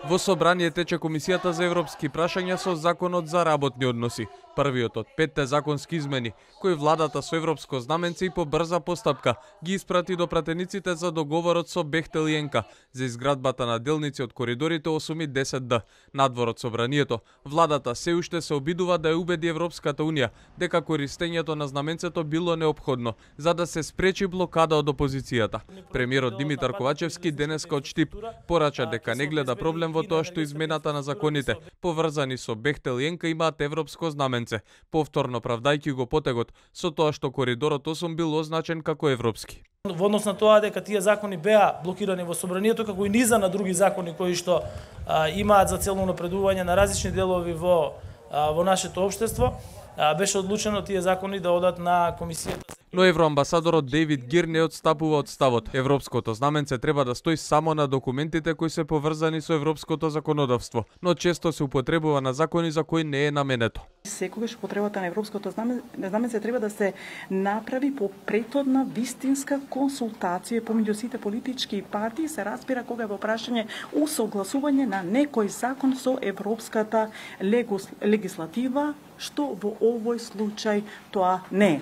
Во собрание тече Комисијата за европски прашања со Законот за работни односи. Првиот од 5 законски измени, кои владата со европско знаменце и по брза постапка ги испрати до пратениците за договорот со Бехтел и ЕНКА за изградбата на делници од коридорите 8 и 10Д. Надвор од собранието, владата се уште се обидува да ја убеди Европската Унија дека користењето на знаменцето било неопходно за да се спречи блокада од опозицијата. Премиерот Димитар Ковачевски денеска од Штип порача дека не гледа проблем во тоа што измената на законите поврзани со Бехтел и ЕНКА имаат европско знаменце, повторно правдајќи го потегот со тоа што коридорот 8 бил означен како европски. Во однос на тоа дека тие закони беа блокирани во собранието, како и низа на други закони кои што имаат за цел напредување на различни делови во нашето општество, беше одлучено тие закони да одат на комисијата. Но евроамбасадорот Дейвид Гир не отстапува од ставот. Европското знаменце треба да стои само на документите кои се поврзани со европското законодавство, но често се употребува на закони за кои не е наменето. Секогаш употребата на европското знаменце треба да се направи по претhodна вистинска консултација помеѓу сите политички партии, се разбира кога е во прашање усогласување на некој закон со европската легислатива, што во овој случај тоа не е.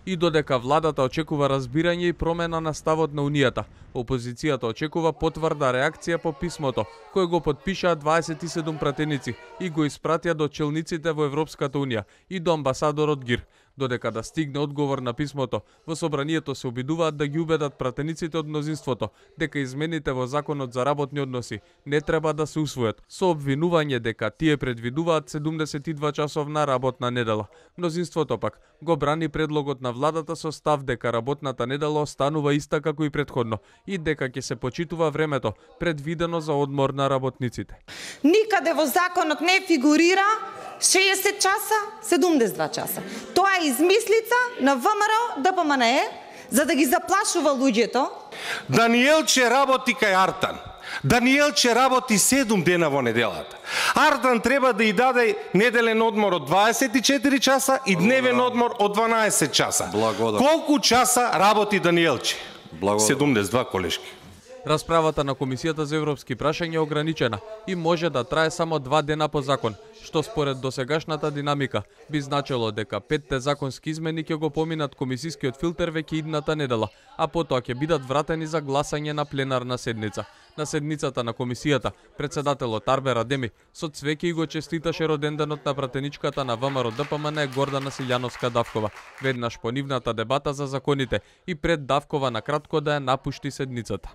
И додека владата очекува разбирање и промена на ставот на Унијата, опозицијата очекува потврда реакција по писмото, кој го потпишаа 27 пратеници и го испратија до челниците во Европската Унија и до амбасадорот Гир. Додека да стигне одговор на писмото, во собранието се обидуваат да ги убедат пратениците од мнозинството дека измените во Законот за работни односи не треба да се усвојат, со обвинување дека тие предвидуваат 72 часовна работна недела. Мнозинството пак го брани предлогот на владата со став дека работната недела останува иста како и претходно и дека ќе се почитува времето предвидено за одмор на работниците. Никаде во законот не фигурира 60 часа, 72 часа. Тоа е измислица на ВМРО ДПМНЕ за да ги заплашува луѓето. Даниелче работи кај Артан. Даниелче работи 7 дена во неделата. Артан треба да ја даде неделен одмор од 24 часа и дневен одмор од 12 часа. Колку часа работи Даниелче? 72, колешки. Расправата на Комисијата за европски прашања е ограничена и може да трае само 2 дена по закон, што според досегашната динамика би значило дека 5 законски измени ќе го поминат комисискиот филтер веќе идната недела, а потоа ќе бидат вратени за гласање на пленарна седница. На седницата на комисијата, председателот Арбер Адеми со цвеќе и го честиташе роденденот на пратеничката на ВМРО ДПМН Гордана Силјановска Давкова, веднаш по нивната дебата за законите и пред Давкова на кратко да ја напушти седницата.